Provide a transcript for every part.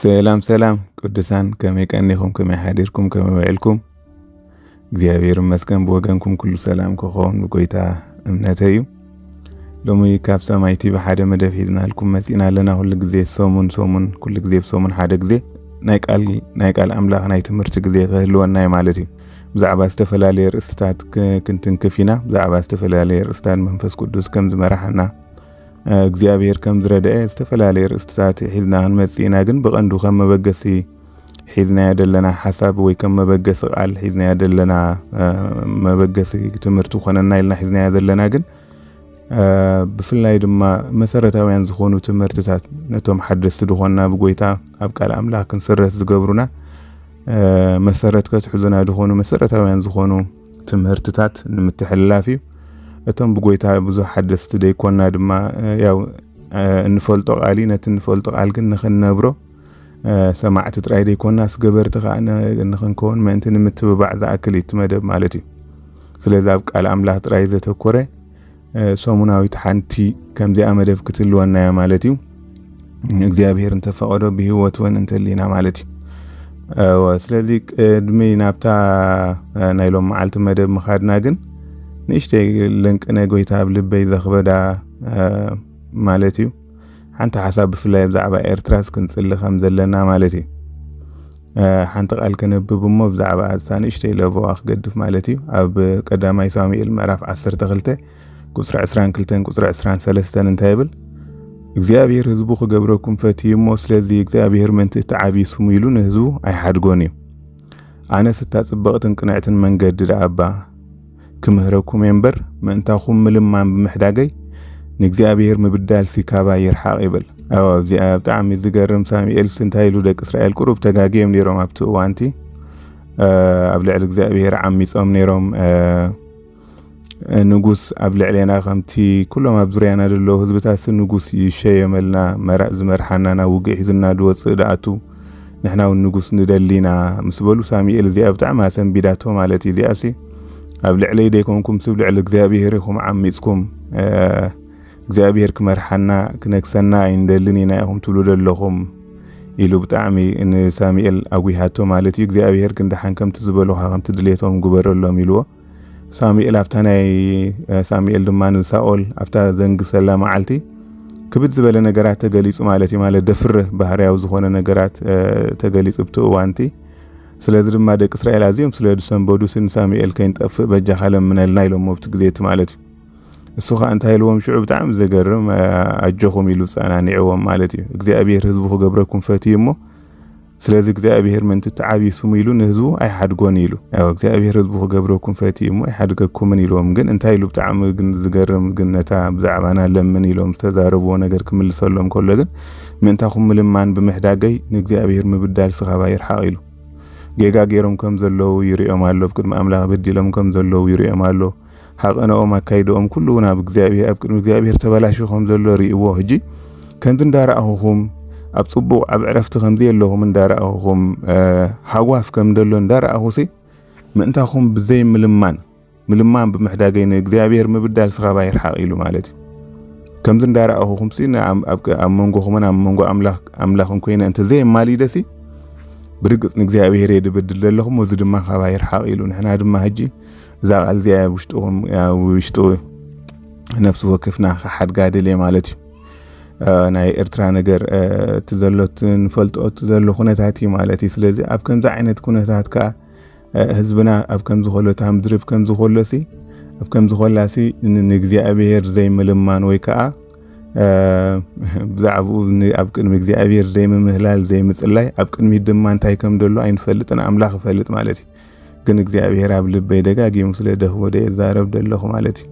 ሰላም ሰላም ቅዱሳን፣ ከመይ ቀኒኹም? ከመይ ሓዲርኩም? ከመይ ውዒልኩም? እግዚኣብሔር ይመስገን፣ ብወገንኩም ኩሉ ሰላም ክኸውን ብጎይታ እምነተይ እዩ። ሎሚ ካብ ሰማይ ቲቪ ሓደ መደብ ሒዝናልኩም መጺና ኣለና። ኩሉ ግዜ ሰሙን ሰሙን፣ ኩሉ ግዜ ብሰሙን ሓደ ግዜ ናይ ቃል፣ ናይ ቃል ኣምላኽ ናይ ትምህርቲ ግዜ ክህልወና እዩ ማለት እዩ። ብዛዕባ ዝተፈላለየ ርእስታት ክ-፣ ክንትንክፍ ኢና። ብዛዕባ ዝተፈላለየ ርእስታት መንፈስ ቅዱስ ከም ዝመራሓና እግዚኣብሔር ከም ዝረድአ ዝተፈላለየ ርእስታት ሒዝና ክንመጽእ ኢና። ግን ብቐንዱ ከም መበገሲ ሒዝናዮ ዘለና ሓሳብ ወይ ከም መበገሲ ቃል ሒዝናዮ ዘለና መበገሲ ትምህርቲ ኮነና ኢልና ሒዝናዮ ዘለና ግን ብፍላይ ድማ መሰረታውያን ዝኾኑ ትምህርትታት ነቶም ሓደስቲ ዝኾንና ብጎይታ ኣብ ቃል ኣምላኽ ክንስረስ ዝገብሩና መሰረት ከትሕዙና ዝኾኑ መሰረታውያን ዝኾኑ ትምህርትታት ንምትሕልላፍ እዩ። እቶም ብጎይታ ብዙሕ ሓደስቲ ደይኮና ድማ ያው እንፈልጦ ቃል እዩ። ነቲ እንፈልጦ ቃል ግን ንኽንነብሮ ሰማዕቲ ጥራይ ደይኮና ስገበርቲ ከዓ ንኽንከውን ምእንቲ ንምትብባዕ ዝኣክል እዩ እቲ መደብ ማለት እዩ። ስለዚ ኣብ ቃል ኣምላኽ ጥራይ ዘተኮረ ሰሙናዊት ሓንቲ ከምዚኣ መደብ ክትህልወና እያ ማለት እዩ። እግዚኣብሔር እንተፈቐዶ ብህይወት እውን እንተሊና ማለት እዩ። ስለዚ ቅድሚ ናብታ ናይ ሎም መዓልቲ መደብ ምኻድና ግን ንእሽተይ ለንቅነ ጎይታ ኣብ ልበይ ዘኽበዳ ማለት እዩ። ሓንቲ ሓሳብ ብፍላይ ብዛዕባ ኤርትራስ ክንጽሊ ከም ዘለና ማለት እዩ። ሓንቲ ቃል ከነብብ እሞ ብዛዕባ ኣሳ ንእሽተይ ለበዋ ክገድፍ ማለት እዩ። ኣብ ቀዳማይ ሳሙኤል ምዕራፍ ዓሰርተ ክልተ ቁጽሪ ዕስራን ክልተን ቁጽሪ ዕስራን ሰለስተን እንታይ ይብል? እግዚኣብሔር ህዝቡ ክገብረኩም ፈትዩ እሞ ስለዚ እግዚኣብሔር ምእንቲ እቲ ዓብዪ ስሙ ኢሉ ንህዝቡ ኣይሓድጎን እዩ። ኣነስ እታ ጽብቕትን ቅንዕትን መንገዲ ደኣ እባ ክምህረኩም እየ እምበር ምእንታኹም ምልማን ብምሕዳገይ ንእግዚኣብሔር ምብዳልሲ ካባይ ይርሓቕ ይብል። እዚኣ ብጣዕሚ ዝገርም። ሳሙኤልስ እንታይ ኢሉ? ደቂ እስራኤል ቁሩብ ተጋግዮም ነይሮም ኣብቲ እዋንቲ ኣብ ልዕሊ እግዚኣብሔር ዓሚጾም ነይሮም። ንጉስ ኣብ ልዕሌና ከምቲ ኩሎም ኣብ ዙርያና ዘለዉ ህዝብታትሲ ንጉስ ይሸየመልና፣ መራእ ዝመርሓና፣ ናብ ውግእ ሒዙና ዝወፅእ ደኣቱ ንሕና እውን ንጉስ ንደሊና ምስ በሉ ሳሙኤል እዚኣ ብጣዕሚ ኣሰንቢዳቶ ማለት እዩ። እዚኣሲ ኣብ ልዕለይ ደይኮንኩም ስብ ልዕሊ እግዚኣብሔር ኢኹም ዓሚፅኩም እግዚኣብሔር ክመርሓና ክነግሰና ኣይንደልን ኢና ኢኹም ትብሉ ዘለኹም ኢሉ ብጣዕሚ ንሳሙኤል ኣጉሃቶ ማለት እዩ። እግዚኣብሔር ግን ደሓን ከምቲ ዝበሉኻ ከምቲ ድሌቶም ግበረሎም ኢልዎ። ሳሙኤል ኣብታ ናይ ሳሙኤል ድማ ንሳኦል ኣብታ ዘንግሰላ መዓልቲ ክብድ ዝበለ ነገራት ተገሊጹ ማለት እዩ። ማለት ደፍርህ ባህርያዊ ዝኾነ ነገራት ተገሊጹ ብቲ እዋንቲ። ስለዚ ድማ ደቂ እስራኤል ኣዝዮም ስለ ዝሰንበዱ ንሳሙኤል ከይንጠፍእ በጃኻ ለምነልና ኢሎሞ ብቲ ግዜ እቲ ማለት እዩ። እሱ ኸዓ እንታይ ኢልዎም ሽዑ ብጣዕሚ ዘገርም ኣጆኹም ኢሉ ጸናኒዕዎም ማለት እዩ። እግዚኣብሔር ህዝቡ ክገብረኩም ፈትዩ እሞ ስለዚ እግዚኣብሔር ምእንቲ እቲ ዓብዪ ስሙ ኢሉ ንህዝቡ ኣይሓድጎን ኢሉ። ያው እግዚኣብሔር ህዝቡ ክገብረኩም ፈትዩ እሞ ኣይሓድገኩምን ኢልዎም። ግን እንታይ ኢሉ ብጣዕሚ ግን ዝገርም ግን ነታ ብዛዕባና ለምን ኢሎም ዝተዛረብዎ ነገር ክምልሰሎም ከሎ ግን ምእንታኹም ምልማን ብምሕዳገይ ንእግዚኣብሔር ምብዳል ስኻባ ይርሓቕ ኢሉ። ጌጋ ገይሮም ከም ዘለዉ ይርእዮም ኣሎ። ኣብ ቅድሚ ኣምላኽ በዲሎም ከም ዘለዉ ይርእዮም ኣሎ። ሃቐነኦም ኣካይድኦም ኩሉ እውን ኣብ እግዚኣብሔር ኣብ ቅድሚ እግዚኣብሔር ተበላሹ ከም ዘሎ ርእይዎ። ሕጂ ከምዚ እንዳረኣኹኹም ኣብ ጽቡቕ ኣብ ዕረፍቲ ከምዚ የለኹም እንዳረኣኹኹም ሃጓፍ ከም ደሎ እንዳረኣኹሲ ምእንታኹም ብዘይ ምልማን ምልማን ብምሕዳገይ ንእግዚኣብሔር ምብዳል ስኻባ ይርሓቕ ኢሉ ማለት እዩ። ከምዚ እንዳረኣኹኹምሲ ኣብ መንጎኹምን ኣብ መንጎ ኣምላኽን ኮይነ እንተ ዘየማሊደሲ ብርግጽ ንእግዚኣብሔር እየ ድበድል ዘለኹም፣ እዚ ድማ ካባ ይርሓቕ ኢሉ። ንሕና ድማ ሕጂ እዛ ቃል እዚኣ ውሽጡ ነፍሲ ወከፍና ክሓድጋ ደልየ ማለት እዩ። ናይ ኤርትራ ነገር እቲ ዘሎ ንፈልጦ እቲ ዘሎ ኩነታት እዩ ማለት እዩ። ስለዚ ኣብ ከምዚ ዓይነት ኩነታት ከዓ ህዝብና ኣብ ከምዚ ከሎ እታ ምድሪ ኣብ ከምዚ ከሎሲ ኣብ ከምዚ ከላሲ ንእግዚኣብሔር ዘይምልማን ወይ ከዓ ብዛዕባኡ ኣብ ቅድሚ እግዚኣብሔር ዘይምምህላል ዘይምፅላይ ኣብ ቅድሚት ድማ እንታይ ከም ደሎ ኣይንፈልጥን፣ ኣምላኽ ይፈልጥ ማለት እዩ። ግን እግዚኣብሔር ኣብ ልበይ ደጋጊሙ ስለ ደህቦ ዶ የዛረብ ደለኹ ማለት እዩ።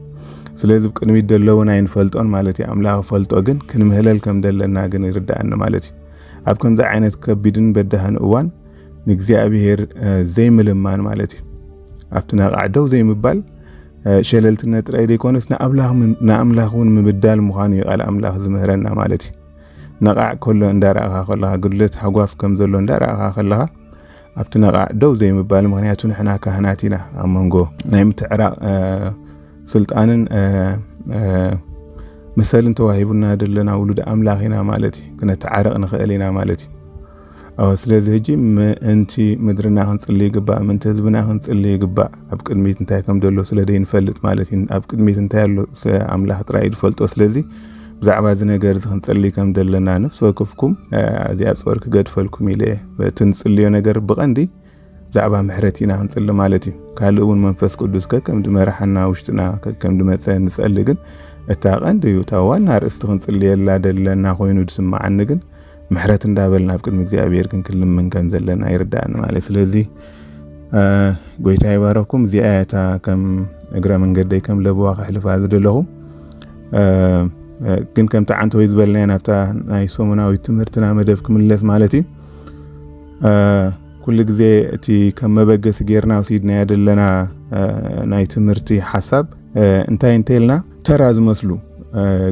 ስለዚ ኣብ ቅድሚት ደሎ እውን ኣይንፈልጦን ማለት እዩ። ኣምላኽ ይፈልጦ ግን ክንምህለል ከም ደለና ግን ይርዳእኒ ማለት እዩ። ኣብ ከምዚ ዓይነት ከቢድን በዳህን እዋን ንእግዚኣብሔር ዘይምልማን ማለት እዩ። ኣብቲ ነቓዕ ደው ዘይምባል ሸለልትነት ጥራይ ዘይኮነስ ንኣምላኽ እውን ምብዳል ምዃኑ እዩ ቃል ኣምላኽ ዝምህረና ማለት እዩ። ነቓዕ ከሎ እንዳረኣኻ ከለኻ፣ ግድለት ሓጓፍ ከም ዘሎ እንዳረኣኻ ከለኻ ኣብቲ ነቓዕ ደው ዘይምባል፣ ምኽንያቱ ንሕና ካህናት ኢና። ኣብ መንጎ ናይ ምትዕራቕ ስልጣንን መሰልን ተዋሂቡና ዘለና ውሉድ ኣምላኽ ኢና ማለት እዩ። ክነተዓረቕ ንኽእል ኢና ማለት እዩ። ስለዚ ሕጂ ምእንቲ ምድርና ክንጽሊ ይግባእ፣ ምእንቲ ህዝብና ክንጽሊ ይግባእ። ኣብ ቅድሚት እንታይ ከም ዘሎ ስለ ዘይንፈልጥ ማለት እዩ። ኣብ ቅድሚት እንታይ ኣሎ ኣምላኽ ጥራይ ዝፈልጦ። ስለዚ ብዛዕባ እዚ ነገር እዚ ክንጽሊ ከም ዘለና፣ ነፍሲ ወከፍኩም እዚኣ ጾር ክገድፈልኩም ኢለ እቲ ንጽልዮ ነገር ብቐንዲ ብዛዕባ ምሕረት ኢና ክንጽሊ ማለት እዩ። ካልእ እውን መንፈስ ቅዱስ ከከም ድመርሓና ውሽጥና ከከም ድመጸ ንጸሊ፣ ግን እታ ቀንዲ እዩ፣ እታ ዋና ርእስቲ ክንጽልየላ ደለና ኮይኑ ድስምዓኒ ግን ምሕረት እንዳበልና ኣብ ቅድሚ እግዚኣብሔር ክንክልምን ከም ዘለና ይርዳእኒ ማለት። ስለዚ ጎይታ ይባረኩም። እዚኣ እታ ከም እግረ መንገደይ ከም ለበዋ ከሕልፋ ዝደለኹ። ግን ከምቲ ዓንተ ወይ ዝበልናዮ ናብታ ናይ ሰሙናዊ ትምህርትና መደብ ክምለስ ማለት እዩ። ኩሉ ግዜ እቲ ከም መበገሲ ጌርና ወሲድናዮ ዘለና ናይ ትምህርቲ ሓሳብ እንታይ እንተልና፣ ተራ ዝመስሉ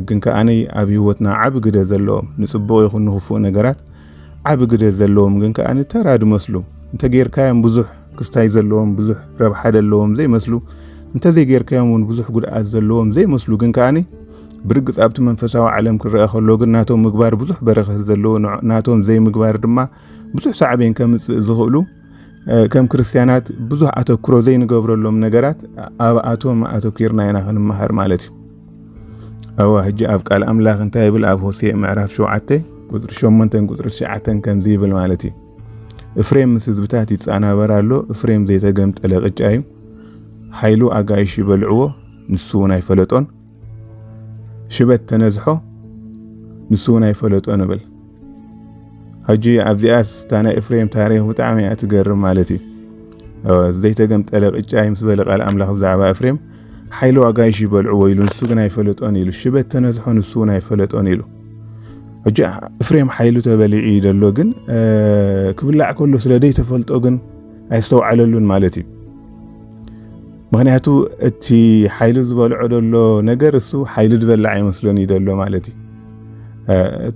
ግን ከኣኒ ኣብ ህይወትና ዓቢ ግደ ዘለዎም፣ ንጽቡቕ ይኹን ንኽፉእ ነገራት ዓቢ ግደ ዘለዎም ግን ከኣኒ ተራ ዝመስሉ፣ እንተ ጌርካዮም ብዙሕ ክስታይ ዘለዎም፣ ብዙሕ ረብሓ ዘለዎም ዘይመስሉ፣ እንተ ዘይጌርካዮም እውን ብዙሕ ጉድኣት ዘለዎም ዘይመስሉ ግን ከኣኒ ብርግጽ ኣብቲ መንፈሳዊ ዓለም ክረአ ከሎ ግን ናቶም ምግባር ብዙሕ በረኸት ዘለዎ፣ ናቶም ዘይምግባር ድማ ብዙሕ ሳዕቤን ከምጽእ ዝኽእሉ፣ ከም ክርስትያናት ብዙሕ ኣተኩሮ ዘይንገብረሎም ነገራት ኣብኣቶም ኣተኪርና ኢና ክንመሃር ማለት እዩ። እዋ ሕጂ ኣብ ቃል ኣምላኽ እንታይ ይብል? ኣብ ሆሴዕ ምዕራፍ ሸውዓተ ቁጽሪ ሸሞንተን ቁጽሪ ትሽዓተን ከምዚ ይብል ማለት እዩ። እፍሬም ምስ ህዝብታት ይጻናበር ኣሎ። እፍሬም ዘይተገምጠለ ቅጫ እዩ። ሓይሉ ኣጋይሽ ይበልዕዎ፣ ንሱ እውን ኣይፈለጦን። ሽበት ተነዝሖ፣ ንሱ እውን ኣይፈለጦን እብል። ሕጂ ኣብዚኣስ እታ ናይ እፍሬም ታሪኽ ብጣዕሚ እያ ትገርም ማለት እዩ። ዘይተገምጠለ ቅጫ እዩ ምስ በለ ቃል ኣምላኽ ብዛዕባ እፍሬም፣ ሓይሉ ኣጋይሽ ይበልዕዎ ኢሉ፣ ንሱ ግን ኣይፈለጦን ኢሉ። ሽበት ተነዝሖ፣ ንሱ እውን ኣይፈለጦን ኢሉ። ሕጂ እፍሬም ሓይሉ ተበሊዑ እዩ ዘሎ፣ ግን ክብላዕ ከሎ ስለ ዘይተፈልጦ ግን ኣይስተውዓለሉን ማለት እዩ። ምኽንያቱ እቲ ሓይሉ ዝበልዖ ዘሎ ነገር እሱ ሓይሉ ዝበላዕ ኣይመስሎን እዩ ዘሎ ማለት እዩ።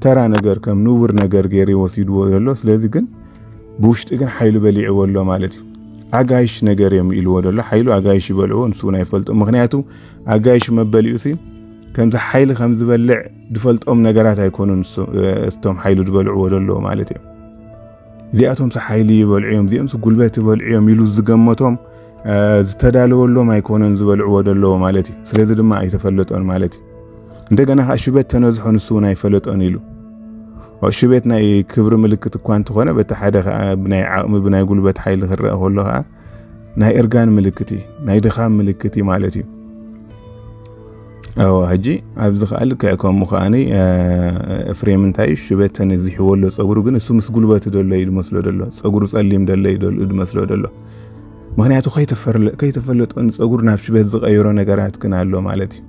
ተራ ነገር ከም ንቡር ነገር ገይሩ ወሲድዎ ዘሎ። ስለዚ ግን ብውሽጢ ግን ሓይሉ በሊዕዎ ኣሎ ማለት እዩ። ኣጋይሽ ነገር እዮም ኢልዎ ዘሎ። ሓይሉ ኣጋይሽ ይበልዕዎ፣ ንሱ እውን ኣይፈልጦ። ምኽንያቱ ኣጋይሽ መበሊዑ ሲ ከምዚ ሓይሊ ከም ዝበልዕ ዝፈልጦም ነገራት ኣይኮኑን እሱ-፣ እቶም ሓይሉ ዝበልዕዎ ዘለዉ ማለት እዮም። እዚኣቶም ሲ ሓይሊ ይበልዑ እዮም፣ እዚኦም ሲ ጉልበት ይበልዑ እዮም ኢሉ ዝገመቶም ዝተዳለወሎም ኣይኮነን ዝበልዕዎ ዘለዉ ማለት እዩ። ስለዚ ድማ ኣይተፈለጦን ማለት እዩ። እንደገና ከዓ ሽበት ተነዝሖ፣ ንሱ እውን ኣይፈለጦን ኢሉ። ሽበት ናይ ክብሪ ምልክት እኳ እንተኾነ፣ በቲ ሓደ ከዓ ብናይ ዓቕሚ ብናይ ጉልበት ሓይሊ ክረአ ከሎ ከዓ ናይ እርጋን ምልክት እዩ፣ ናይ ድኻም ምልክት እዩ ማለት እዩ። ሕጂ ኣብዚ ከዓ ልክዕ ከምኡ ከዓኒ እፍሬም እንታይ እዩ ሽበት ተነዚሕዎ ኣሎ ፀጉሩ፣ ግን እሱ ምስ ጉልበቱ ደሎ እዩ ዝመስሎ ደሎ፣ ፀጉሩ ፀሊም ደሎ እዩ ደሎ ዝመስሎ ደሎ። ምኽንያቱ ከይተፈለጦ ንፀጉሩ ናብ ሽበት ዝቐይሮ ነገራት ግን ኣሎ ማለት እዩ።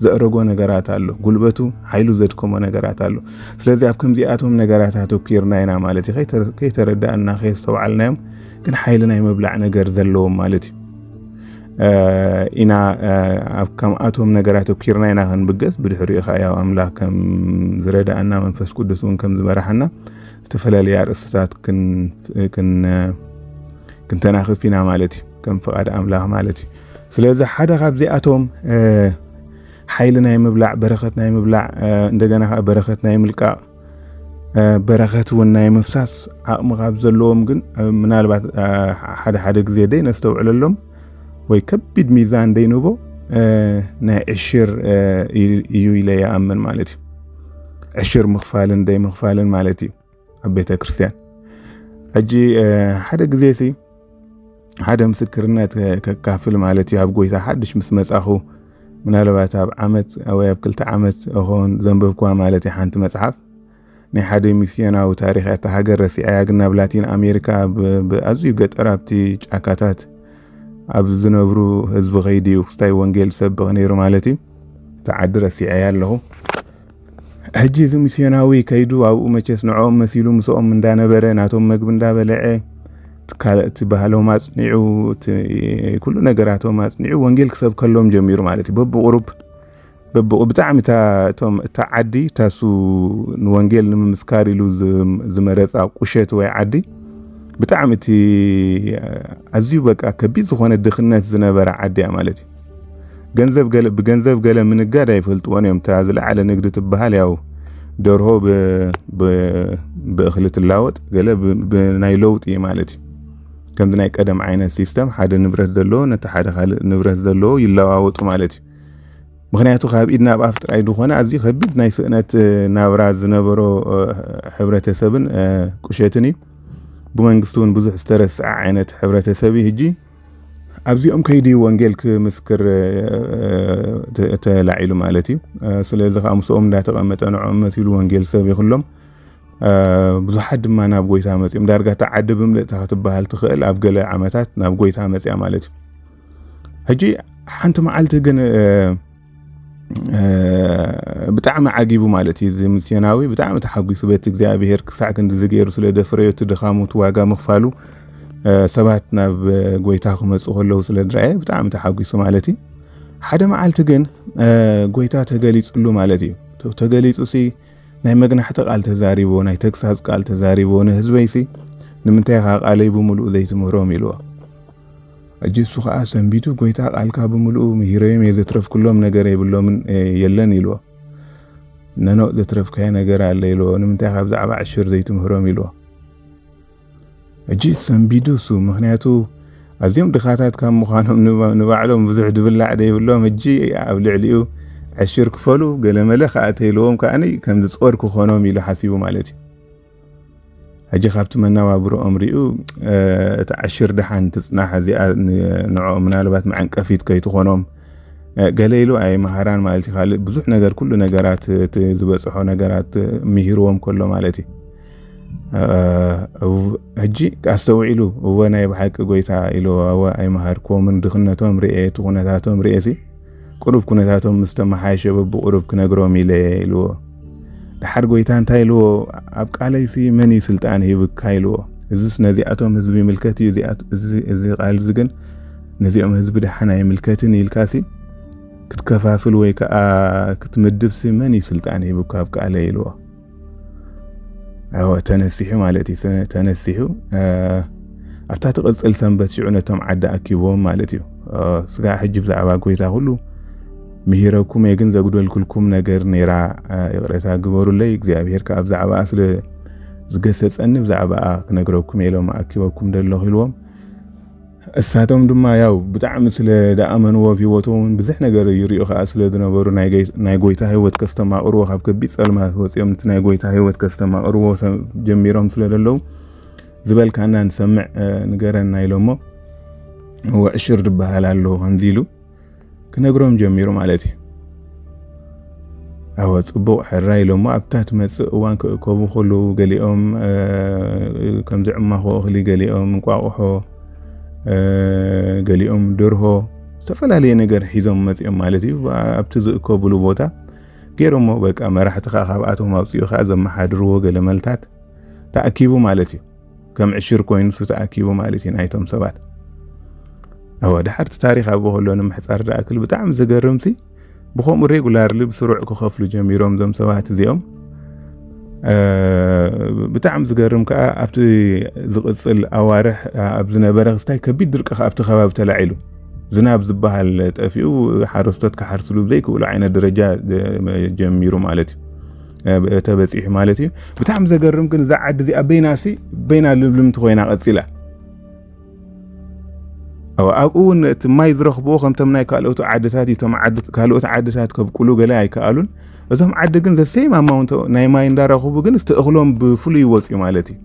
ዘእረጎ ነገራት ኣሎ፣ ጉልበቱ ሓይሉ ዘድከሞ ነገራት ኣሎ። ስለዚ ኣብ ከምዚኣቶም ነገራት ኣተኪርና ኢና ማለት እዩ። ከይተረዳእና ከየስተውዓልናዮም ግን ሓይሊ ናይ ምብላዕ ነገር ዘለዎም ማለት እዩ። ኢና ኣብ ከምኣቶም ነገራት ኣተኪርና ኢና ክንብገስ። ብድሕሪኡ ከዓ ያው ኣምላኽ ከም ዝረዳእና መንፈስ ቅዱስ እውን ከም ዝመራሓና ዝተፈላለዩ ኣርእስትታት ክንተናኽፍ ኢና ማለት እዩ፣ ከም ፍቓድ ኣምላኽ ማለት እዩ። ስለዚ ሓደ ካብዚኣቶም ሓይሊ ናይ ምብላዕ፣ በረኸት ናይ ምብላዕ፣ እንደገና ከዓ በረኸት ናይ ምልቃቕ፣ በረኸት እውን ናይ ምፍሳስ ዓቕሚ ካብ ዘለዎም ግን ምናልባት ሓደ ሓደ ግዜ ደይ ነስተውዕለሎም ወይ ከቢድ ሚዛን ደይንቦ ናይ ዕሽር እዩ ኢለ ይኣምን ማለት እዩ። ዕሽር ምኽፋልን ደይ ምኽፋልን ማለት እዩ ኣብ ቤተ ክርስቲያን። ሕጂ ሓደ ግዜ ሲ ሓደ ምስክርነት ከካፍል ማለት እዩ። ኣብ ጎይታ ሓድሽ ምስ መጻኹ ምናልባት ኣብ ዓመት ወይ ኣብ ክልተ ዓመት እኾን ዘንበብኩዋ ማለት እዩ ሓንቲ መጽሓፍ። ናይ ሓደ ሚስዮናዊ ታሪኽ እያ። እታ ሃገር ረሲዐያ፣ ግን ናብ ላቲን ኣሜሪካ ብ-፣ ብኣዝዩ ገጠር ኣብቲ ጫካታት ኣብ ዝነብሩ ህዝቢ ከይዱ እዩ ክስታይ ወንጌል ዝሰብኽ ነይሩ ማለት እዩ። እታ ዓዲ ረሲዐያ ኣለኹ። ሕጂ እዚ ሚስዮናዊ ከይዱ ኣብኡ መቸስ ንዕኦም መሲሉ ምስኦም እንዳነበረ ናቶም መግቢ እንዳበለዐ እቲ ካልእ እቲ ባህሎም ኣጽኒዑ እቲ ኩሉ ነገራቶም ኣጽኒዑ ወንጌል ክሰብከሎም ጀሚሩ ማለት እዩ። በብቁሩብ በብቑ-፣ ብጣዕሚ እታ፣ እቶም፣ እታ ዓዲ፣ እታ እሱ ንወንጌል ንምምስካር ኢሉ ዝ-፣ ዝመረጻ ቁሸት ወይ ዓዲ፣ ብጣዕሚ እቲ ኣዝዩ በቃ ከቢድ ዝኾነ ድኽነት ዝነበረ ዓዲ እያ ማለት እዩ። ገንዘብ ገለ፣ ብገንዘብ ገለ ምንጋድ ኣይፈልጥዎን እዮም። እታ ዝለዓለ ንግዲ ትበሃል ያው ደርሆ ብእኽሊ ትላወጥ፣ ገለ ብናይ ለውጢ ማለት እዩ። ከምዚ ናይ ቀደም ዓይነት ሲስተም ሓደ ንብረት ዘለዎ ነቲ ሓደ ካልእ ንብረት ዘለዎ ይለዋወጡ ማለት እዩ። ምኽንያቱ ካብ ኢድ ናብ ኣፍ ጥራይ ዝኾነ ኣዝዩ ከቢድ ናይ ስእነት ናብራ ዝነበሮ ሕብረተሰብን ቁሸትን እዩ። ብመንግስቲ እውን ብዙሕ ዝተረስዐ ዓይነት ሕብረተሰብ እዩ። ሕጂ ኣብዚኦም ከይዲ ወንጌል ክምስክር ተላዒሉ ማለት እዩ። ስለዚ ከዓ ምስኦም እንዳተቐመጠ ንዕኦም መሲሉ ወንጌል ሰብ ይኽሎም። ብዙሓት ድማ ናብ ጎይታ መፂኦም። ዳርጋ እታ ዓዲ ብምልእታ ክትበሃል ትኽእል ኣብ ገለ ዓመታት ናብ ጎይታ መፅያ ማለት እዩ። ሕጂ ሓንቲ መዓልቲ ግን ብጣዕሚ ዓጊቡ ማለት እዩ። እዚ ሚስዮናዊ ብጣዕሚ ተሓጒሱ በቲ እግዚኣብሔር ክሳዕ ክንድዚ ገይሩ ስለ ደፍረዮ፣ እቲ ድኻሙ፣ እቲ ዋጋ ምኽፋሉ፣ ሰባት ናብ ጎይታ ክመፁ ከለዉ ስለ ድረኣየ ብጣዕሚ ተሓጒሱ ማለት እዩ። ሓደ መዓልቲ ግን ጎይታ ተገሊፅሉ ማለት እዩ። ተገሊፁ ሲ ናይ መግናሕቲ ቃል ተዛሪቦ፣ ናይ ተግሳፅ ቃል ተዛሪቦ፣ ንህዝበይሲ ንምንታይ ኢኻ ቃለይ ብምሉእ ዘይትምህሮም ኢልዎ። ሕጂ እሱ ከዓ ሰንቢዱ፣ ጎይታ ቃልካ ብምሉኡ ምሂረዮም እየ፣ ዘትረፍኩሎም ነገር የብሎምን የለን ኢልዎ። ነኖ ዘትረፍካዮ ነገር ኣለ ኢልዎ። ንምንታይ ካብ ብዛዕባ ዕሽር ዘይትምህሮም ኢልዎ። ሕጂ ሰንቢዱ እሱ፣ ምኽንያቱ ኣዝዮም ድኻታት ካብ ምዃኖም ንባዕሎም ብዙሕ ድብላዕ ደይብሎም፣ ሕጂ ኣብ ልዕሊኡ ዕሽር ክፈሉ ገለመለ ከዓ ተይልዎም ከዓኒ ከም ዝጾር ክኾኖም ኢሉ ሓሲቡ ማለት እዩ። ሕጂ ካብቲ መነባብሮኦም ሪኡ እቲ ዕሽር ደሓን ትጽናሕ እዚኣ ንዕኦም ምናልባት መዐንቀፊት ከይትኾኖም ገለ ኢሉ ኣይመሃራን ማለት እዩ። ካልእ ብዙሕ ነገር፣ ኩሉ ነገራት፣ እቲ ዝበጽሖ ነገራት ምሂርዎም ከሎ ማለት እዩ። ሕጂ ኣስተውዒሉ፣ እወ ናይ ብሓቂ ጎይታ ኢልዎ፣ እወ ኣይመሃርክዎምን፣ ድኽነቶም ርኤ፣ እቲ ኩነታቶም ርኤ ሲ ቁሩብ ኩነታቶም ምስ ተመሓየሸ በብቁሩብ ክነግሮም ኢለ ኢልዎ። ደሓር ጎይታ እንታይ ኢልዎ? ኣብ ቃለይሲ መን እዩ ስልጣን ሂብካ ኢልዎ። እዚስ ነዚኣቶም ህዝቢ ይምልከት እዩ፣ እዚ ቃል እዚ ግን ነዚኦም ህዝቢ ደሓን ኣይምልከትን ኢልካሲ ክትከፋፍል ወይ ከዓ ክትምድብሲ መን እዩ ስልጣን ሂብካ ኣብ ቃለይ ኢልዎ። ተነሲሑ ማለት እዩ። ተነሲሑ ኣብታ ትቕፅል ሰንበት ሽዑ ነቶም ዓዲ ኣኪብዎም ማለት እዩ። ስጋ ሕጂ ብዛዕባ ጎይታ ኩሉ ምሂረኩም እየ፣ ግን ዘጉደልኩልኩም ነገር ነይራ፣ ይቕሬታ ግበሩለይ፣ እግዚኣብሔር ከዓ ብዛዕባኣ ስለ ዝገሰፀኒ ብዛዕባኣ ክነግረኩም እየ ኢሎም ኣኪበኩም ደለኹ ኢልዎም። እሳቶም ድማ ያው ብጣዕሚ ስለ ደኣመንዎ፣ ኣብ ህይወቶም እውን ብዙሕ ነገር ይሪኡ ከዓ ስለ ዝነበሩ፣ ናይ ጎይታ ህይወት ከስተማቕርዎ፣ ካብ ከቢድ ፀልማት ወፂኦም ነቲ ናይ ጎይታ ህይወት ከስተማቕርዎ ጀሚሮም ስለ ዘለዉ፣ ዝበልካና ንሰምዕ፣ ንገረና ኢሎሞ። እወ ዕሽር ዝበሃል ኣሎ ከምዚ ኢሉ ክነግሮም ጀሚሩ ማለት እዩ። ኣወ ፅቡቕ ሕራይ ኢሎሞ። ኣብታ ትመፅእ እዋን ክእከቡ ከለዉ ገሊኦም ከምዚ ዕማኾ እኽሊ፣ ገሊኦም እንቋቑሖ፣ ገሊኦም ደርሆ፣ ዝተፈላለየ ነገር ሒዞም መፂኦም ማለት እዩ። ኣብቲ ዝእከብሉ ቦታ ገይሮሞ፣ በቃ መራሕቲ ከዓ ካብኣቶም ኣውፅኡ ከዓ ዘመሓድርዎ ገለመልታት ተኣኪቡ ማለት እዩ። ከም ዕሽር ኮይኑ እሱ ተኣኪቡ ማለት እዩ ናይቶም ሰባት። ኣወ ድሓርቲ ታሪኽ ኣብኡ ከሎ ንምሕፃር ደኣክል ብጣዕሚ ዘገርምሲ ብከምኡ ሬጉላርሊ ብስሩዕ ክኸፍሉ ጀሚሮም እዞም ሰባት እዚኦም። ብጣዕሚ ዝገርም ከዓ ኣብቲ ዝቕፅል ኣዋርሕ ኣብ ዝነበረ ክስታይ ከቢድ ድርቂ ኣብቲ ከባቢ ተላዒሉ፣ ዝናብ ዝበሃል ጠፊኡ፣ ሓረስቶት ክሓርስሉ ብዘይክእሉ ዓይነት ደረጃ ጀሚሩ ማለት እዩ፣ ተበፂሑ ማለት እዩ። ብጣዕሚ ዘገርም ግን እዛ ዓዲ እዚኣ በይናሲ በይና ልብልምቲ ኮይና ቀፂላ። ኣብኡ እውን እቲ ማይ ዝረኽብዎ ከምቶም ናይ ካልኦት ዓድታት እዩ። እቶም ካልኦት ዓድታት ከብቁሉ ገለ ኣይከኣሉን። እዞም ዓዲ ግን ዘሰይም ኣማውንት ናይ ማይ እንዳረኽቡ ግን እቲ እኽሎም ብፍሉይ ይወፅዩ ማለት እዩ።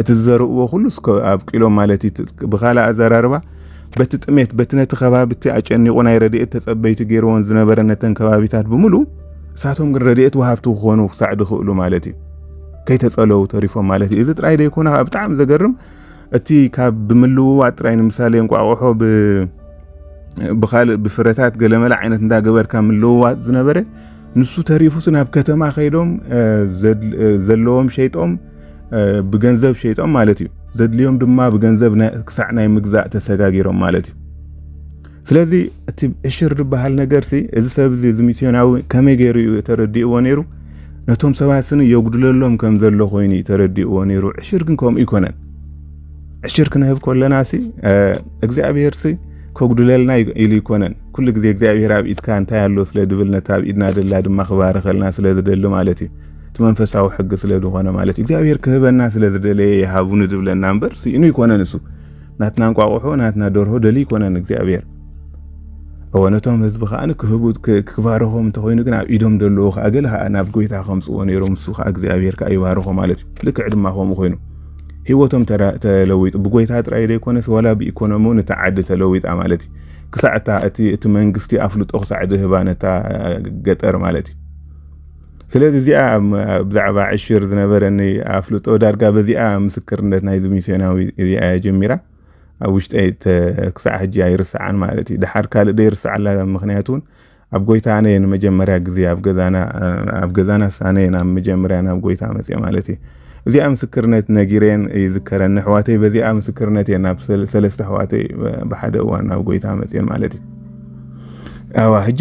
እቲ ዝዘርእዎ ኩሉ ኣብቂሎም ማለት እዩ። ብካልእ ኣዘራርባ በቲ ጥሜት፣ በቲ ነቲ ከባቢ እቲ ኣጨኒቑ ናይ ረድኤት ተፀበይቲ ገይርዎን ዝነበረ ነተን ከባቢታት ብምሉእ እሳቶም ግን ረድኤት ወሃብቲ ክኾኑ ክሳዕ ድኽእሉ ማለት እዩ። ከይተፀለዉ ተሪፎም ማለት እዩ። እዚ ጥራይ ደይኮነ ከዓ ብጣዕሚ ዘገርም እቲ ካብ ብምልውዋጥ ጥራይ ንምሳሌ እንቋቑሖ ብካልእ ብፍረታት ገለመለ ዓይነት እንዳገበርካ ምልውዋጥ ዝነበረ ንሱ ተሪፉስ ናብ ከተማ ከይዶም ዘለዎም ሸይጦም ብገንዘብ ሸይጦም ማለት እዩ። ዘድልዮም ድማ ብገንዘብ ክሳዕ ናይ ምግዛእ ተሰጋጊሮም ማለት እዩ። ስለዚ እቲ ዕሽር ዝበሃል ነገርሲ እዚ ሰብ እዚ እዚ ሚስዮናዊ ከመይ ገይሩ እዩ ተረዲእዎ ነይሩ? ነቶም ሰባት ስኒ የጉድለሎም ከም ዘሎ ኮይኑ እዩ ተረዲእዎ ነይሩ። ዕሽር ግን ከምኡ ይኮነን። ዕሽር ክንህብ ከለና ሲ እግዚኣብሔር ሲ ከጉድለልና ኢሉ ይኮነን። ኩሉ ግዜ እግዚኣብሔር ኣብ ኢድካ እንታይ ኣሎ ስለ ድብል ነታ ኣብ ኢድና ደላ ድማ ክባርኸልና ስለ ዝደሊ ማለት እዩ። እቲ መንፈሳዊ ሕጊ ስለ ዝኾነ ማለት እዩ። እግዚኣብሔር ክህበና ስለ ዝደለየ ይሃቡኒ ዝብለና እምበር ስኢኑ ይኮነን። እሱ ናትና እንቋቑሖ ናትና ደርሆ ደሊ ይኮነን እግዚኣብሔር። እወ ነቶም ህዝቢ ከዓ ክህቡ ክባረኾም እንተኮይኑ ግን ኣብ ኢዶም ደለዎ ከዓ ገለ ከዓ ናብ ጎይታ ከምፅዎ ነይሮም፣ እሱ ከዓ እግዚኣብሔር ከዓ ይባረኾ ማለት እዩ። ልክዕ ድማ ከምኡ ኮይኑ ህይወቶም ተለዊጡ ብጎይታ ጥራይ ዘይኮነስ ዋላ ብኢኮኖሚ እውን እታ ዓዲ ተለዊጣ ማለት እዩ። ክሳዕ እታ እቲ መንግስቲ ኣፍልጦ ክሳዕ ድህባ ነታ ገጠር ማለት እዩ። ስለዚ እዚኣ ብዛዕባ ዕሽር ዝነበረኒ ኣፍልጦ ዳርጋ በዚኣ ምስክርነት ናይዚ ሚስዮናዊ እዚኣ ጀሚራ ኣብ ውሽጠይ ክሳዕ ሕጂ ኣይርስዓን ማለት እዩ። ድሓር ካልእ ደይርስዓላ ምክንያት እውን ኣብ ጎይታ ኣነ ንመጀመርያ ግዜ ኣብ ገዛና ኣብ ገዛና ኣነ ናብ መጀመርያ ናብ ጎይታ መፅየ ማለት እዩ። እዚኣ ምስክርነት ነጊረን ይዝከረኒ ኣሕዋተይ። በዚኣ ምስክርነት እየ ናብ ሰለስተ ኣሕዋተይ ብሓደ እዋን ናብ ጎይታ መፅየን ማለት እዩ። ኣዋ ሕጂ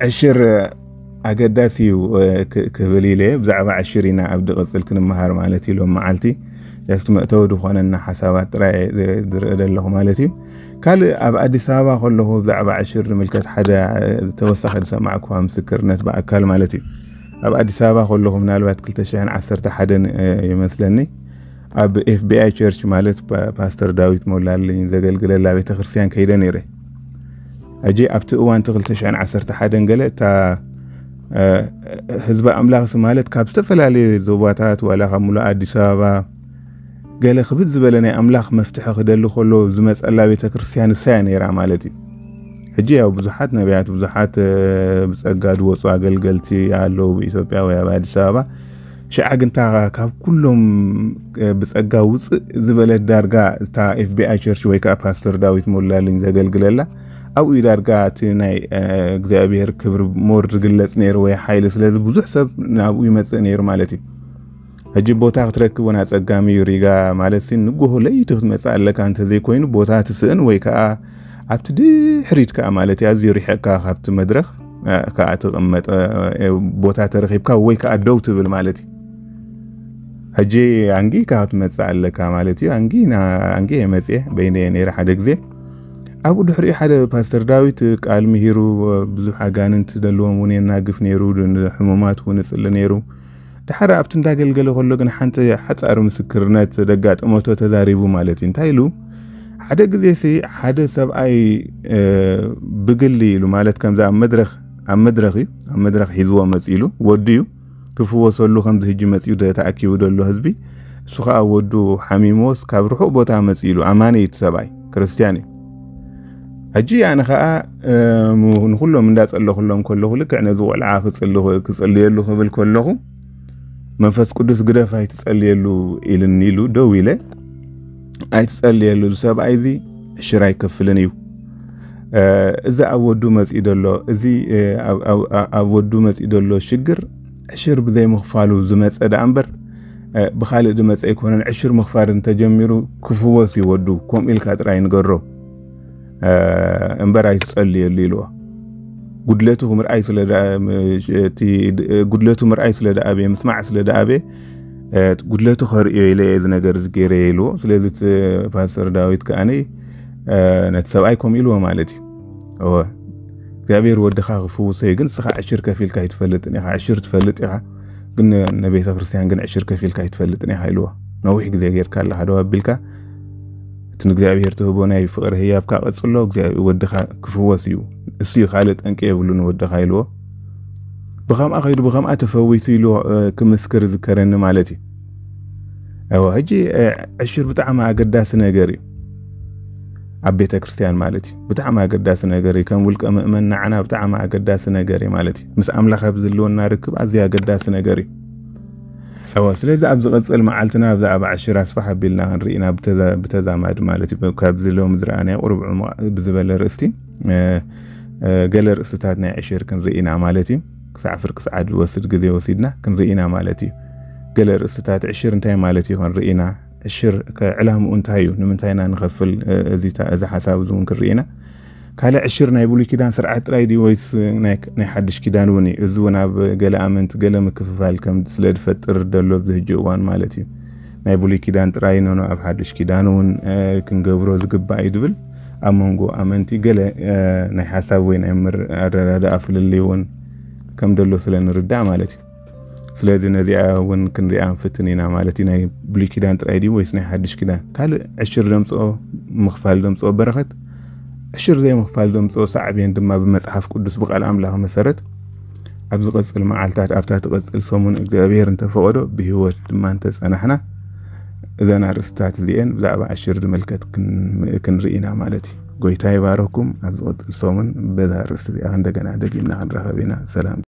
ዕሽር ኣገዳሲ እዩ ክብል ኢለ ብዛዕባ ዕሽር ኢና ኣብ ድቕፅል ክንመሃር ማለት እዩ። ሎም መዓልቲ ስ መእተዊ ዝኾነና ሓሳባት ጥራይ ዝርኢ ዘለኹ ማለት እዩ። ካልእ ኣብ ኣዲስ ኣበባ ከለኹ ብዛዕባ ዕሽር ንምልከት ሓደ ተወሳኺ ዝሰማዕኩዋ ምስክርነት ብኣካል ማለት እዩ። ኣብ ኣዲስ ኣበባ ከለኹ ምናልባት ክልተ ሽሕን ዓሰርተ ሓደን ይመስለኒ ኣብ ኤፍቢኣይ ቸርች ማለት ፓስተር ዳዊት ሞላልኝ ዘገልግለላ ቤተክርስትያን ከይደ ነይረ። ሕጂ ኣብቲ እዋን እቲ ክልተ ሽሕን ዓሰርተ ሓደን ገለ እታ ህዝቢ ኣምላኽሲ ማለት ካብ ዝተፈላለዩ ዞባታት ዋላ ካብ ሙሉእ ኣዲስ ኣበባ ገለ ክብድ ዝበለ ናይ ኣምላኽ መፍትሒ ክደሊ ከሎ ዝመፀላ ቤተክርስትያን እሳያ ነይራ ማለት እዩ። ሕጂ ያው ብዙሓት ነቢያት ብዙሓት ብፀጋ ዝወፁ ኣገልገልቲ ኣለዉ ብኢትዮጵያ ወይ ኣብ ኣዲስ ኣበባ። ሽዓ ግንታ ካብ ኩሎም ብፀጋ ውፅእ ዝበለት ዳርጋ እታ ኤፍቢኣይ ቸርች ወይ ከዓ ፓስተር ዳዊት ሞላልኝ ዘገልግለላ ኣብኡ ዳርጋ እቲ ናይ እግዚኣብሔር ክብሪ ሞር ዝግለፅ ነይሩ ወይ ሓይሊ ስለዚ ብዙሕ ሰብ ናብኡ ይመፅእ ነይሩ ማለት እዩ። ሕጂ ቦታ ክትረክብ እውን ኣፀጋሚ እዩ። ሪጋ ማለት ሲ ንጎሆ ለይቲ ክትመፅእ ኣለካ እንተዘይኮይኑ ቦታ ትስእን ወይ ከዓ ኣብቲ ድሕሪት ከዓ ማለት እዩ ኣዝዩ ሪሕቅካ ካብቲ መድረክ ከዓ ትቕመጥ ቦታ ተረኺብካ ወይ ከዓ ደው ትብል ማለት እዩ። ሕጂ ኣንጊካ ክትመፅእ ኣለካ ማለት እዩ። ኣንጊ ኣንጊ የመፅየ በይነ ነይረ ሓደ ግዜ ኣብኡ ድሕሪኡ ሓደ ፓስተር ዳዊት ቃል ምሂሩ ብዙሕ ኣጋንንት ዘለዎም እውን የናግፍ ነይሩ፣ ሕሙማት እውን እፅሊ ነይሩ። ድሓር ኣብቲ እንዳገልገለ ከሎ ግን ሓንቲ ሓፃር ምስክርነት ደጋጠመቶ ተዛሪቡ ማለት እዩ። እንታይ ኢሉ ሓደ ግዜ ሲ ሓደ ሰብኣይ ብግሊ ኢሉ ማለት ከምዚ ኣብ መድረክ ኣብ መድረክ እዩ ኣብ መድረክ ሒዝዎ መፂ ኢሉ ወዲ እዩ ክፍወሰሉ ከምዚ ህጂ መፂኡ ተኣኪቡ ዘሎ ህዝቢ እሱ ከዓ ወዱ ሓሚሞስ ካብ ርሑቕ ቦታ መፂ ኢሉ ኣማኒ እዩ እቲ ሰብኣይ ክርስትያን እዩ። ሕጂ ኣነ ከዓ ንኩሎም እንዳፀለኹሎም ከለኹ ልክዕ ነዚ ቆልዓ ክፅልየሉ ክብል ከለኹ መንፈስ ቅዱስ ግደፍ ኣይትፀልየሉ ኢልኒ ኢሉ ደው ኢለ ኣይትፀልየሉ ሰብኣይ እዚ ዕሽር ኣይከፍልን እዩ። እዚ ኣብ ወዱ መፂኡ ዘሎ እዚ ኣብ ወዱ መፂኡ ዘሎ ሽግር ዕሽር ብዘይምኽፋሉ ዝመፀ ደኣ እምበር ብኻልእ ድመፀ ኣይኮነን። ዕሽር ምኽፋል እንተጀሚሩ ክፍወስ እዩ ወዱ። ከምኡ ኢልካ ጥራይ ንገሮ እምበር ኣይትፀልየሉ ኢልዎ። ጉድለቱ ምርኣይ ስለ ጉድለቱ ምርኣይ ስለ ደኣበየ ምስማዕ ስለ ደኣበየ ጉድለቱ ከርእዮ ኢለ እዚ ነገር እዚ ገይረ ኢልዎ። ስለዚ ፓስተር ዳዊት ከኣኒ ነቲ ሰብኣይ ከምኡ ኢልዎ ማለት እዩ። እወ እግዚኣብሔር ወድኻ ክፍውሶ እዩ፣ ግን ንስኻ ዕሽር ከፊልካ ኣይትፈልጥን ኢኻ። ዕሽር ትፈልጥ ኢኻ፣ ግን ንቤተ ክርስቲያን ግን ዕሽር ከፊልካ ኣይትፈልጥን ኢኻ ኢልዎ። ነዊሕ ግዜ ጌርካ ኣለኻ ደው ኣቢልካ። እቲ ንእግዚኣብሔር ትህቦ ናይ ፍቕሪ ህያብካ ቀጽሎ፣ እግዚኣብሔር ወድኻ ክፍወስ እዩ። እሱ እዩ ካልእ ጠንቂ የብሉን ወድኻ ኢልዎ። ብኸምኣ ከይዱ ብኸምኣ ተፈዊሱ ኢሉ ክምስክር ዝከረኒ ማለት እዩ። እወ ሕጂ ዕሽር ብጣዕሚ ኣገዳሲ ነገር እዩ። ኣብ ቤተ ክርስቲያን ማለት እዩ ብጣዕሚ ኣገዳሲ ነገር እዩ። ከም ውልቀ ምእመን ንዓና ብጣዕሚ ኣገዳሲ ነገር እዩ ማለት እዩ። ምስ ኣምላኽ ኣብ ዝህልወና ርክብ ኣዝዩ ኣገዳሲ ነገር እዩ። እወ ስለዚ ኣብ ዝቐጽል መዓልትና ብዛዕባ ዕሽር ኣስፋሕ ኣቢልና ክንርኢ ኢና ብተዛማድ ማለት እዩ። ካብዚ ሎሚ ዝረኣናዮ ቁሩብ ዕሙቕ ብዝበለ ርእስቲ ገለ ርእስታት ናይ ዕሽር ክንርኢ ኢና ማለት እዩ። ክሳዕ ፍርቂ ሰዓት ዝወስድ ግዜ ወሲድና ክንርኢ ኢና ማለት እዩ። ገለ ርእስታት ዕሽር እንታይ ማለት እዩ ክንርኢ ኢና። ዕሽር ዕላምኡ እንታይ እዩ? ንምንታይ ኢና ንኸፍል? እዚ ሓሳብ እዚ እውን ክንርኢ ኢና። ካልእ ዕሽር ናይ ብሉይ ኪዳን ስርዓት ጥራይ ድዩ ወይስ ናይ ሓድሽ ኪዳን እውን እዩ? እዚ እውን ኣብ ገለ ኣመንቲ ገለ ምክፍፋል ከም ስለ ዝፈጥር ደሎ ኣብዚ ሕጂ እዋን ማለት እዩ። ናይ ብሉይ ኪዳን ጥራይ ኖኖ ኣብ ሓድሽ ኪዳን እውን ክንገብሮ ዝግባእ እዩ ዝብል ኣብ መንጎ ኣመንቲ ገለ ናይ ሓሳብ ወይ ናይ ኣረዳድኣ ፍልልይ እውን ከም ደሎ ስለ ንርዳእ ማለት እዩ። ስለዚ ነዚኣ እውን ክንሪኣ ንፍትን ኢና ማለት እዩ። ናይ ብሉይ ኪዳን ጥራይ ድዩ ወይስ ናይ ሓድሽ ኪዳን? ካልእ ዕሽር ደምፅኦ፣ ምኽፋል ደምፅኦ በረኸት፣ ዕሽር ዘይምኽፋል ደምፅኦ ሳዕቤን ድማ ብመፅሓፍ ቅዱስ ብቃል ኣምላኽ መሰረት ኣብ ዝቐፅል መዓልታት፣ ኣብታ ትቐፅል ሰሙን እግዚኣብሔር እንተፈቐዶ ብህይወት ድማ እንተፀናሕና እዘን ኣርእስታት እዚኤን ብዛዕባ ዕሽር ዝምልከት ክን- ክንርኢ ኢና ማለት እዩ። ጎይታ ይባረኩም። ኣብ ዝቐፅል ሰሙን በዛ ኣርእስቲ እዚኣ እንደገና ደጊምና ክንራኸብ ኢና። ሰላም።